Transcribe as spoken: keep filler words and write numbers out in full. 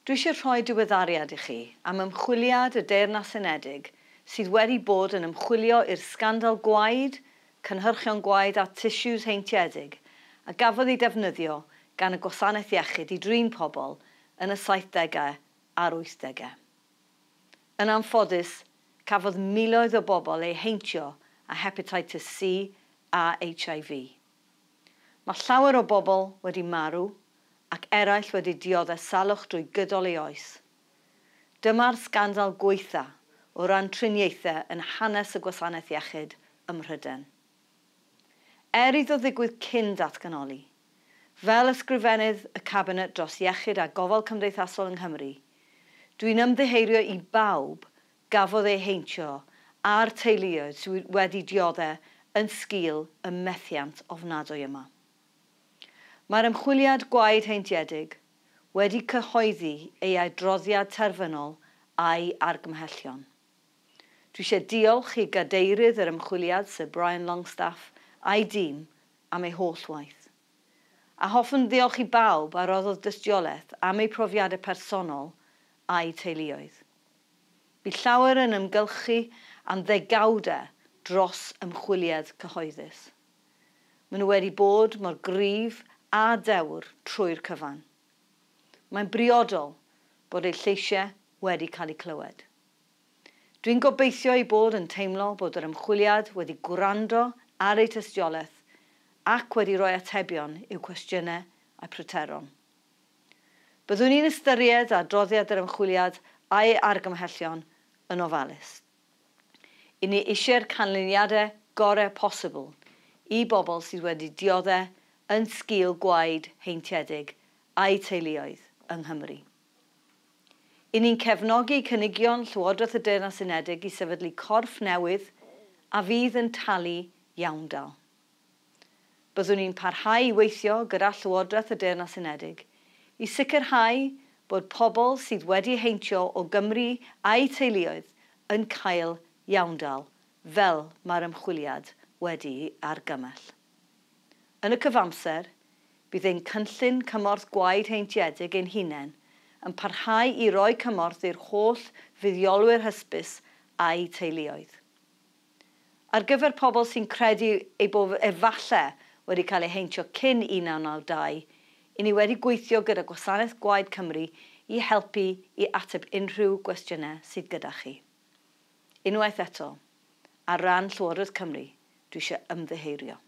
Dwi eisiau rhoi diweddariad i chi am ymchwiliad y Deyrnas Unedig sydd wedi bod yn ymchwilio i'r sgandal gwaed, cynhyrchion gwaed a tissues heintiedig a gafodd ei defnyddio gan y Gwasanaeth Iechyd i drin pobl yn y saithdegau a'r wythdegau. Yn anffodus, cafodd miloedd o bobl eu heintio â hepatitis C a H I V. Mae llawer o bobl wedi marw ac eraill wedi dioddef salwch drwy gydol ei oes. Dyma'r sgandal gwaetha o ran triniaethau yn hanes y Gwasanaeth Iechyd ym Mhrydain. Er iddo ddigwydd cyn datganoli, fel ysgrifennydd y Cabinet dros Iechyd a Gofal Cymdeithasol yng Nghymru, dwi'n ymddiheurio i bawb gafodd eu heintio a'r teuluoedd sydd wedi dioddef yn sgil y methiant ofnadwy yma. Mae'r ymchwiliad gwaed heintiedig wedi cyhoeddi ei adroddiad terfynol a'i argymhellion. Dwi eisiau diolch i gadeirydd yr ymchwiliad, Sir Brian Longstaff, a'i dîm am ei holl waith. A hoffwn ddiolch i bawb a roddodd dystiolaeth am eu profiadau personol a'i teuluoedd. Bu llawer yn ymgylchu am ddegawdau dros ymchwiliad cyhoeddus. Maen nhw wedi bod mor gryf a dewr trwy'r cyfan. Mae'n briodol bod eu lleisiau wedi cael eu clywed. Dwi'n gobeithio eu bod yn teimlo bod yr ymchwiliad wedi gwrando ar eu tystiolaeth ac wedi rhoi atebion i'w cwestiynau a'u pryderon. Byddwn ni'n ystyried adroddiad yr ymchwiliad a'i argymhellion yn ofalus. I ni eisiau'r canlyniadau gorau posibl i bobl sydd wedi dioddef yn sgil gwaed heintiedig a'i teuluoedd yng Nghymru. I ni'n cefnogi cynigion Llywodraeth y Deyrnas Unedig i sefydlu corff newydd a fydd yn talu iawndal. Byddwn ni'n parhau i weithio gyda Llywodraeth y Deyrnas Unedig i sicrhau bod pobl sydd wedi heintio o Gymru a'u teuluoedd yn cael iawndal fel mae'r ymchwiliad wedi'i argymell. Yn y cyfamser, bydd ein cynllun cymorth gwaed heintiedig ein hunain yn parhau i roi cymorth i'r holl fuddiolwyr hysbys a'u teuluoedd. Ar gyfer pobl sy'n credu eu bod efallai wedi cael eu heintio cyn un naw naw dau, i ni wedi gweithio gyda Gwasanaeth Gwaed Cymru i helpu i ateb unrhyw gwestiynau sydd gyda chi. Unwaith eto, ar ran Llywodraeth Cymru, dwi eisiau ymddiheurio.